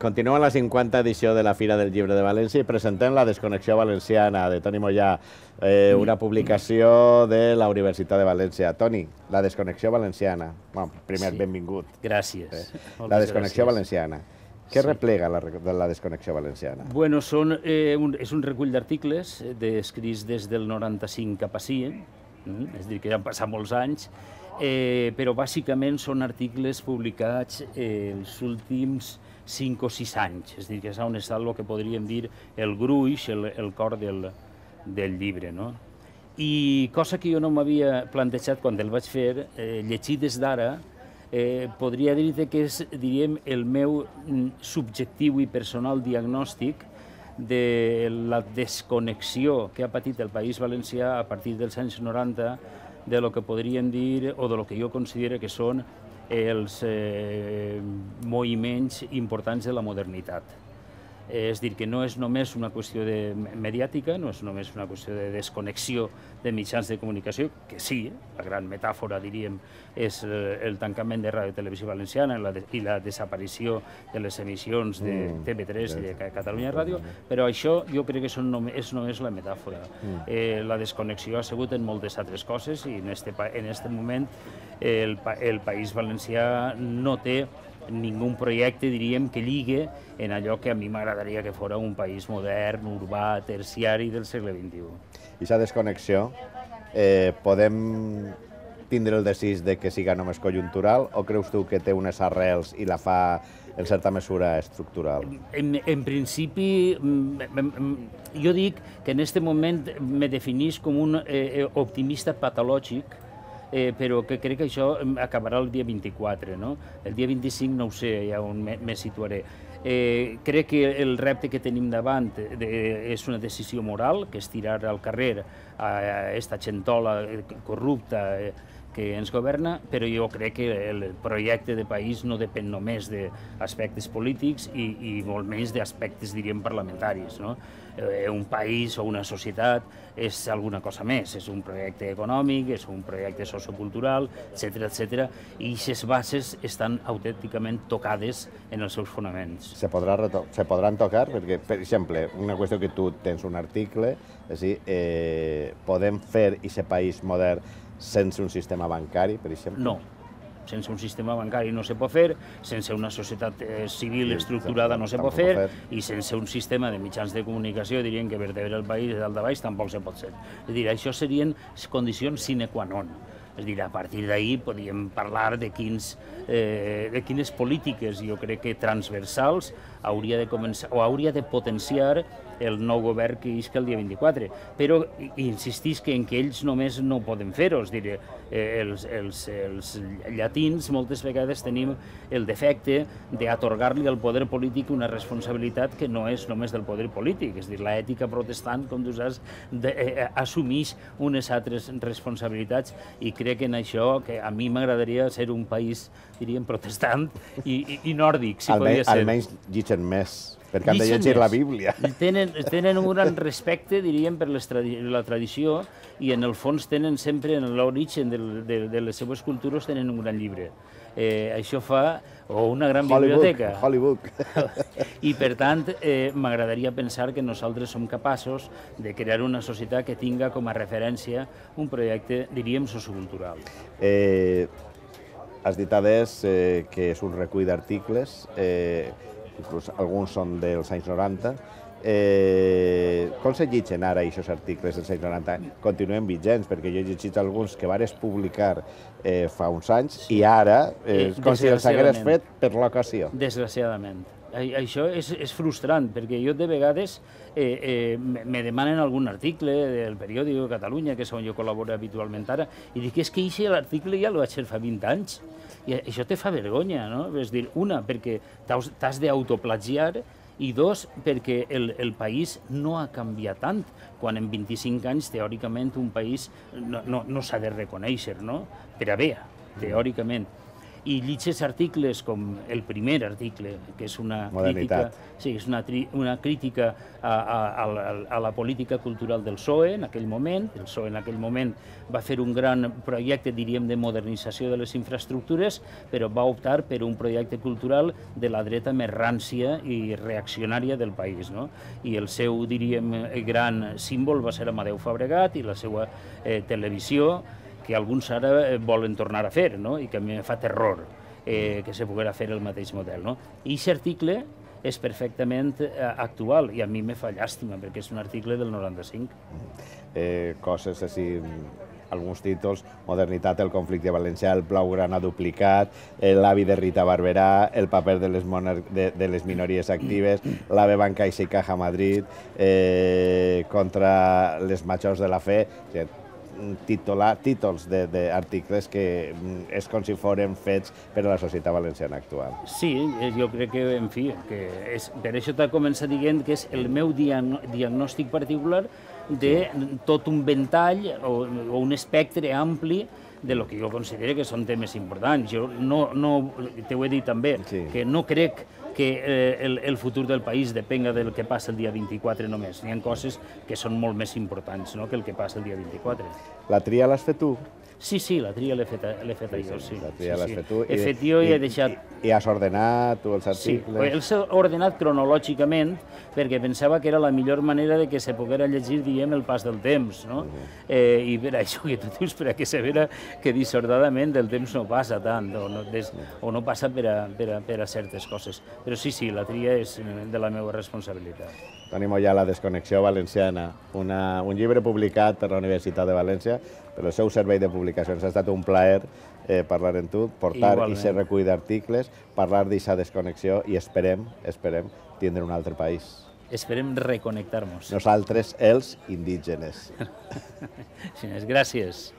Continuem la 50 edició de la Fira del Llibre de València i presentem la Desconnexió Valenciana de Toni Mollà, una publicació de la Universitat de València. Toni, la Desconnexió Valenciana. Bueno, primer, benvingut. Gràcies. La Desconnexió Valenciana. Què replega la Desconnexió Valenciana? Bueno, és un recull d'articles escrits des del 95 cap ací, és a dir, que ja han passat molts anys, però bàsicament són articles publicats els últims 5 o 6 anys, és a dir, que és on està el que podríem dir el gruix, el cor del llibre. I cosa que jo no m'havia plantejat quan el vaig fer, llegir des d'ara, podria dir-te que és, diríem, el meu subjectiu i personal diagnòstic de la desconnexió que ha patit el País Valencià a partir dels anys 90 de lo que podríem dir, o de lo que jo considero que són els moviments importants de la modernitat. És a dir, que no és només una qüestió mediàtica, no és només una qüestió de desconnexió de mitjans de comunicació, que sí, la gran metàfora, diríem, és el tancament de Ràdio Televisió Valenciana i la desaparició de les emissions de TV3 i de Catalunya Ràdio, però això jo crec que és només la metàfora. La desconnexió ha sigut en moltes altres coses i en aquest moment el País Valencià no té ningú projecte, diríem, que lligue en allò que a mi m'agradaria que fos un país modern, urbà, terciari del segle XXI. I aquesta desconnexió, podem tindre el desig de que siga només conjuntural o creus tu que té unes arrels i la fa en certa mesura estructural? En principi, jo dic que en aquest moment me definís com un optimista patològic, però que crec que això acabarà el dia 24, no? El dia 25 no ho sé, ja on me situaré. Crec que el repte que tenim davant és una decisió moral, que és tirar al carrer a aquesta gentola corrupta que ens governa, però jo crec que el projecte de país no depèn només d'aspectes polítics i molt menys d'aspectes, diríem, parlamentaris. Un país o una societat és alguna cosa més, és un projecte econòmic, és un projecte sociocultural, etc. I aquestes bases estan autènticament tocades en els seus fonaments. Se podran tocar? Perquè, per exemple, una qüestió que tu tens un article, és a dir, podem fer aquest país modern sense un sistema bancari, per exemple? No. Sense un sistema bancari no se pot fer, sense una societat civil estructurada no se pot fer, i sense un sistema de mitjans de comunicació, diríem que vertebra el país de dalt a baix, tampoc se pot ser. És a dir, això serien condicions sine qua non. És a dir, a partir d'ahir podríem parlar de quines polítiques, jo crec que transversals, hauria de començar o hauria de potenciar el nou govern que isca el dia 24. Però insistís que en que ells només no poden fer-ho. És a dir, els llatins moltes vegades tenim el defecte d'atorgar-li al poder polític una responsabilitat que no és només del poder polític. És a dir, l'ètica protestant, com tu saps, assumeix unes altres responsabilitats i crec en això que a mi m'agradaria ser un país, diríem, protestant i nòrdic, si podia ser. Almenys llitgen més, perquè han de llegir la Bíblia. Tenen un gran respecte, diríem, per la tradició i en el fons tenen sempre, en l'origen de les seves cultures, tenen un gran llibre. Això fa, o una gran biblioteca. Hollywood. I per tant, m'agradaria pensar que nosaltres som capaços de crear una societat que tinga com a referència un projecte, diríem, sociocultural. Has dit adés que és un recull d'articles, inclús alguns són dels anys 90. Com se llegeixen ara aquests articles dels anys 90? Continuen vigents, perquè jo he llegit alguns que vares publicar fa uns anys i ara com si els hagués fet per l'ocasió. Desgraciadament. Això és frustrant, perquè jo de vegades me demanen algun article del periòdic de Catalunya, que és on jo col·laboro habitualment ara, i dic, és que l'article ja el vaig fer fa 20 anys. I això te fa vergonya, no? És dir, una, perquè t'has d'autoplagiar, i dos, perquè el país no ha canviat tant, quan en 25 anys, teòricament, un país no s'ha de reconèixer, no? Per a bé, teòricament. i llitges articles com el primer article, que és una crítica, és una crítica a la política cultural del PSOE en aquell moment. El PSOE en aquell moment va fer un gran projecte, diríem, de modernització de les infraestructures, però va optar per un projecte cultural de la dreta més rància i reaccionària del país, no? I el seu, diríem, gran símbol va ser Amadeu Fabregat i la seva televisió, que alguns ara volen tornar a fer, no? I que a mi em fa terror que se poguera fer el mateix model, no? I aquest article és perfectament actual i a mi me fa llàstima perquè és un article del 95. Coses així, alguns títols: Modernitat, el conflicte valencià, el Blaugrana duplicat, l'avi de Rita Barberà, el paper de les minories actives, l'AVE Banca i Caja Madrid, contra les majors de la fe. Títols d'articles que és com si foren fets per a la societat valenciana actual. Sí, jo crec que, en fi, per això t'ha començat dient que és el meu diagnòstic particular de tot un ventall o un espectre ampli de lo que jo considero que són temes importants. Jo t'ho he dit també, que no crec que el futur del país depenga del que passa el dia 24 només. Hi ha coses que són molt més importants que el que passa el dia 24. La tria l'has fet tu? Sí, la tria l'he feta jo, sí. La tria l'has fet tu. He fet jo i he deixat... I has ordenat tu els articles? Sí, els he ordenat cronològicament perquè pensava que era la millor manera de que se poguera llegir, diguem, el pas del temps, no? I per això que tu dius, per a que se vera que dissortadament el temps no passa tant o no passa per a certes coses. Però sí, la tria és de la meva responsabilitat. Toni Moyà, La desconnexió valenciana, un llibre publicat per la Universitat de València, per el seu servei de publicacions. Ha estat un plaer parlar amb tu, portar aquest recull d'articles, parlar d'aquesta desconnexió i esperem tindre un altre país. Esperem reconnectar-nos. Nosaltres, els indígenes. Gràcies.